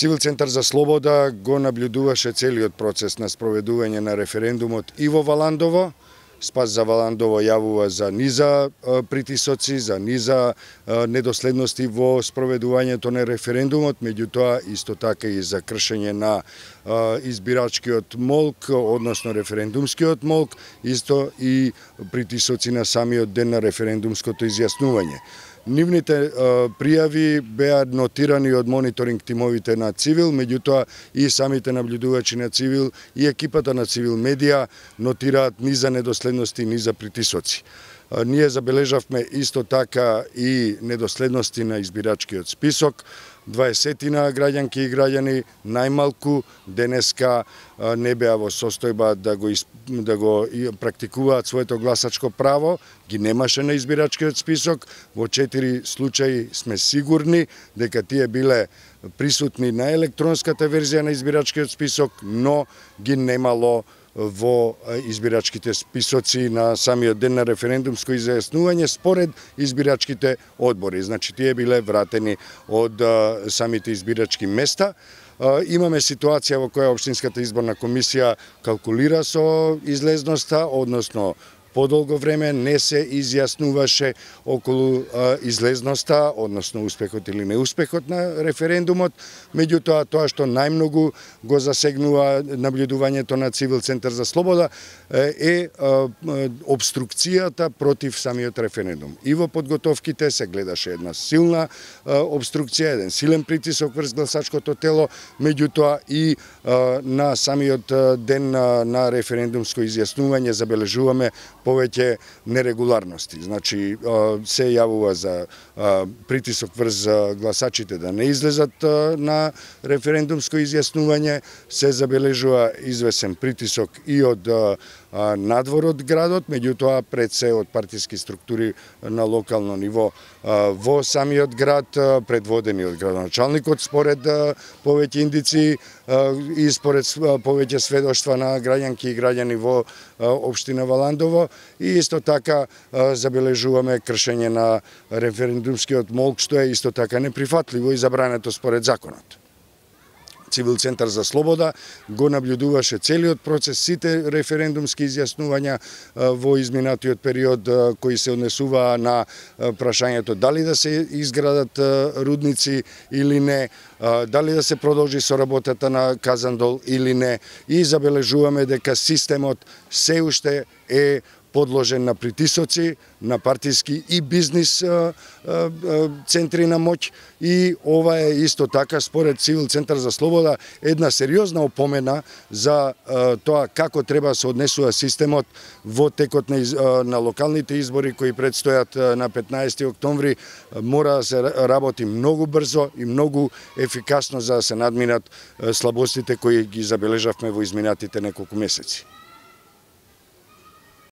Цивил центар за слобода го наблюдуваше целиот процес на спроведување на референдумот и во Валандово. Спас за Валандово јавува за низа притисоци, за низа недоследности во спроведувањето на референдумот, меѓутоа исто така и за кршење на избирачкиот молк, односно референдумскиот молк, исто и притисоци на самиот ден на референдумското изјаснување. Нивните пријави беа нотирани од мониторинг тимовите на Цивил, меѓутоа и самите наблюдувачи на Цивил и екипата на Цивил медија нотираат низа недоследности, низа притисоци. Ние забележавме исто така и недоследности на избирачкиот список. 20 граѓанки и граѓани најмалку денеска не беа во состојба да го практикуваат своето гласачко право, ги немаше на избирачкиот список. Во 4 случаи сме сигурни дека тие биле присутни на електронската верзија на избирачкиот список, но ги немало во избирачките списоци на самиот ден на референдумско изјаснување според избирачките одбори. Значи, тие биле вратени од самите избирачки места. Имаме ситуација во која Општинската изборна комисија калкулира со излезноста, односно подолго време не се изјаснуваше околу излезноста, односно успехот или неуспехот на референдумот, меѓутоа тоа што најмногу го засегнува наблюдувањето на Цивил центар за слобода е обструкцијата против самиот референдум. И во подготовките се гледаше една силна обструкција, еден силен притисок врз гласачкото тело, меѓутоа и на самиот ден на референдумско изјаснување забележуваме повеќе нерегуларности. Значи, се јавува за притисок врз гласачите да не излезат на референдумско изјаснување, се забележува извесен притисок и од надвор од градот, меѓутоа пред се од партиски структури на локално ниво во самиот град, предводени од градоначалникот според повеќе индици и според повеќе сведоштва на граѓанки и граѓани во општина Валандово, и исто така забележуваме кршење на референдумскиот молк, што е исто така неприфатливо и забрането според законот. Цивил центар за слобода го наблюдуваше целиот процес, сите референдумски изјаснувања во изминатиот период кои се однесуваа на прашањето дали да се изградат рудници или не, дали да се продолжи со работата на Казандол или не, и забележуваме дека системот се уште е подложен на притисоци, на партиски и бизнис центри на моќ, и ова е исто така според Цивил центар за слобода една сериозна опомена за тоа како треба да се однесува системот во текот на локалните избори кои предстојат на 15 октомври. Мора да се работи многу брзо и многу ефикасно за да се надминат слабостите кои ги забележавме во изминатите неколку месеци.